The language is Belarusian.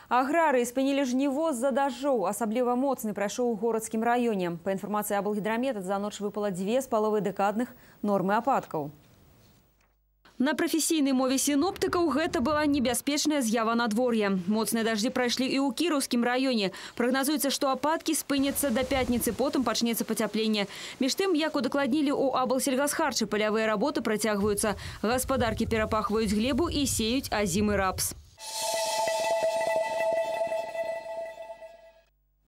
Аграрыі спынілі жніво з-за дажджоў. Асабліва моцны прайшоў у горадскім раёне. Па інфармацыі Аблгідрамета, за ноч выпала 2,5 дэкадных нормы ападкаў. На прафесійнай мове сіноптыкаў гэта была небяспечная з'ява надвор'я. Моцныя дажджы прайшлі і ў Кіраўскім раёне. Прагназуецца, што ападкі спыняцца да пятніцы, потым пачнецца пацяпленне. Між тым, як удакладнілі ў Аблсельгасхарчы, палявыя работы працягваюцца. Гаспадаркі перапахваюць глебу і сеюць азімы рапс.